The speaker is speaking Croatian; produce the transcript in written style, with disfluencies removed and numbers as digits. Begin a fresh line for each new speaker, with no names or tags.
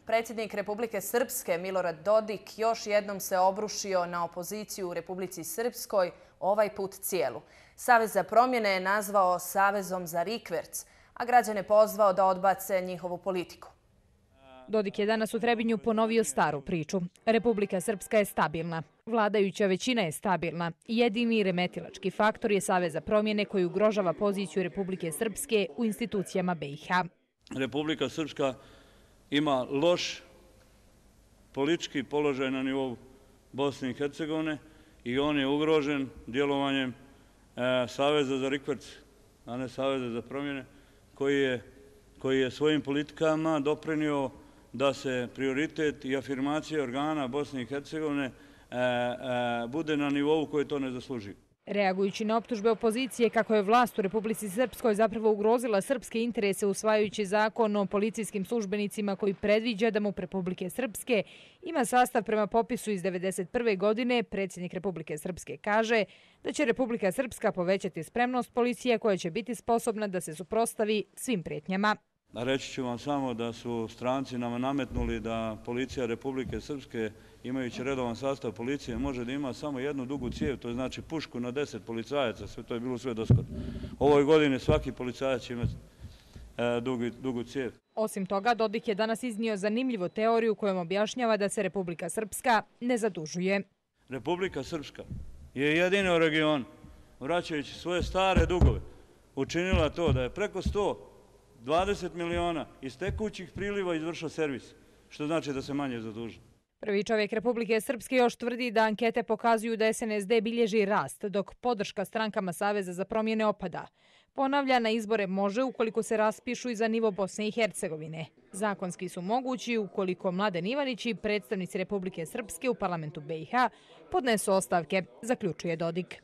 Predsjednik Republike Srpske Milorad Dodik još jednom se obrušio na opoziciju u Republici Srpskoj, ovaj put cijelu. Savez za promjene je nazvao Savezom za rikverc, a građane pozvao da odbace njihovu politiku.
Dodik je danas u Trebinju ponovio staru priču. Republika Srpska je stabilna. Vladajuća većina je stabilna. Jedini remetilački faktor je Savez za promjene koji ugrožava poziciju Republike Srpske u institucijama BiH.
Republika Srpska ima loš politički položaj na nivou Bosne i Hercegovine i on je ugrožen djelovanjem Saveza za rikverc, a ne Saveza za promjene, koji je svojim politikama doprinio da se prioritet i afirmacija organa Bosne i Hercegovine bude na nivou koji to ne zasluži.
Reagujući na optužbe opozicije kako je vlast u Republici Srpskoj zapravo ugrozila srpske interese usvajajući zakon o policijskim službenicima koji predviđa da MUP Republike Srpske ima sastav prema popisu iz 1991. godine, predsjednik Republike Srpske kaže da će Republika Srpska povećati spremnost policije koja će biti sposobna da se suprotstavi svim prijetnjama.
Reći ću vam samo da su stranci nama nametnuli da policija Republike Srpske, imajući redovan sastav policije, može da ima samo jednu dugu cijev, to znači pušku na 10 policajaca, sve to je bilo sve doskoro. Ovoj godini svaki policajac će imati dugu cijev.
Osim toga, Dodik je danas iznio zanimljivu teoriju kojom objašnjava da se Republika Srpska ne zadužuje.
Republika Srpska je jedina u regionu, vraćajući svoje stare dugove, učinila to da je preko 120 miliona iz tekućih priliva izvršao servis, što znači da se manje zaduži.
Prvi čovjek Republike Srpske još tvrdi da ankete pokazuju da SNSD bilježi rast, dok podrška strankama Saveza za promjene opada. Ponavlja, na izbore može ukoliko se raspišu i za nivo Bosne i Hercegovine. Zakonski su mogući ukoliko Mladen Ivanić i predstavnici Republike Srpske u parlamentu BiH podnesu ostavke, zaključuje Dodik.